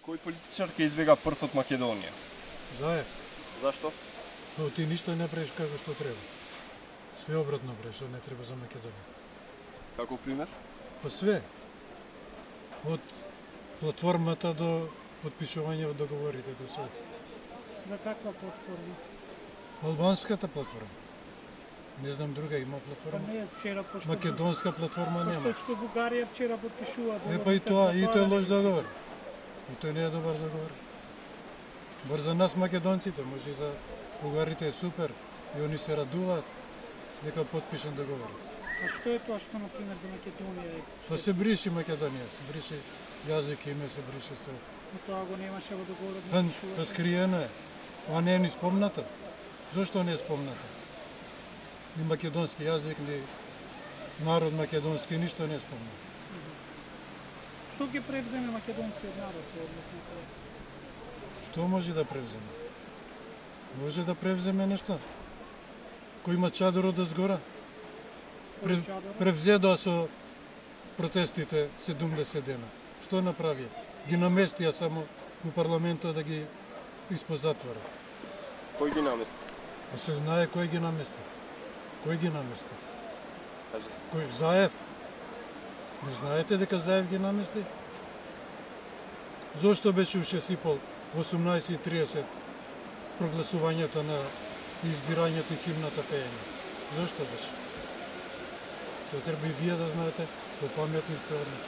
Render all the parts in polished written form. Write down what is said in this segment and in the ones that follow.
Кој политичар ќе избега прв од Македонија? Заев. Зашто? Но ти ништо не правиш како што треба. Све обратно правиш, што не треба за Македонија. Како пример? Па све. Од платформата до подпишување од договорите до све. За каква платформа? Албанската платформа. Не знам друга има Па платформа. не, вчера пошто... Македонска платформа нема. Пошто со Бугарија вчера подпишува договор. Па и тоа, и тој е лош договор. И тој не е добар договор. Бар за нас македонците, може и за бугарите е супер. И они се радуваат дека подпишан договор. А што е тоа што, например, за Македонија е? Па се бриши Македонија, се бриши јазик, име, се бриши се. Но тоа го немаше во договорот. Па скриено е. А не е ни спомнато. Зошто не е спомнато? Ни македонски јазик, ни народ македонски, ништо не е спомнато. Што ќе превземе македонскиот народ во однос на тоа? Што може да превземе? Може да превземе нешто. Кој има чадор од згора? Превзедоа со протестите 70 дена. Што направи? Ги наместија само у парламентот да ги испозатвора. Кој ги намести? А се знае кој ги намести. Кој ги намести? Кажете. Кој? Заев? Не знаете дека Заев ги намести? Зошто беше у 6:30 во 18:30 прогласувањето на избирањето и химната пеење? Зошто беше? Тоа треба и вие да знаете, попаметни сте од нас.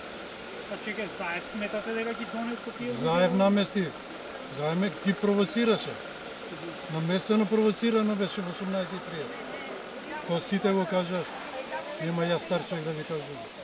Па чекај, Заев сметате дека ги донесо тие? Заев намести. Заев ги провоцираше. Наместено провоцирано беше во 18:30. Тоа сите го кажаш. Нема ја стар човек да ви кажу.